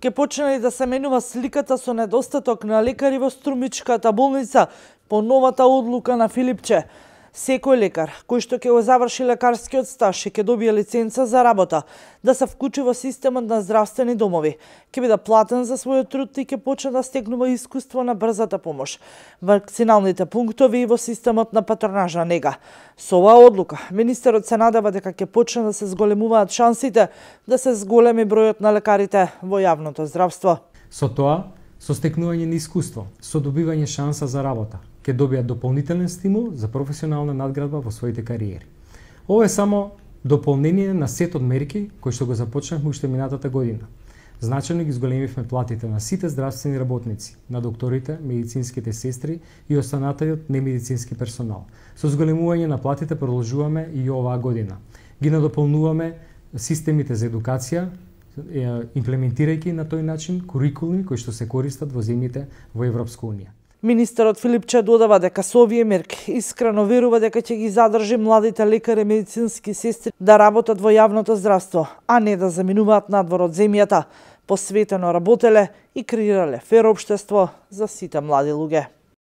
Ке почне да се менува сликата со недостаток на лекари во Струмичката болница по новата одлука на Филипче. Секој лекар кој што ќе го заврши лекарскиот стаж и ќе добие лиценца за работа да се вклучи во системот на здравствени домови, ќе биде платен за својот труд и ќе почне да стекнува искуство на брзата помош, вакциналните пунктови и во системот на патронажна нега. Со оваа одлука, министерот се надева дека ќе почне да се зголемуваат шансите да се зголеми бројот на лекарите во јавното здравство. Со тоа, со стекнување на искуство, со добивање шанса за работа, ќе добијат дополнителен стимул за професионална надградба во своите кариери. Ова е само дополнение на сет од мерки кои што го започнавме уште минатата година. Значајно ги зголемивме платите на сите здравствени работници, на докторите, медицинските сестри и останатиот немедицински персонал. Со зголемување на платите продолжуваме и оваа година. Ги надополнуваме системите за едукација, имплементирајќи на тој начин курикулуми кои што се користат во земјите во Европска унија. Министерот Филипче додава дека со овие мерки искрено верува дека ќе ги задржи младите лекари и медицински сестри да работат во јавното здравство, а не да заминуваат надвор од земјата. Посветено работеле и креирале фер општество за сите млади луѓе.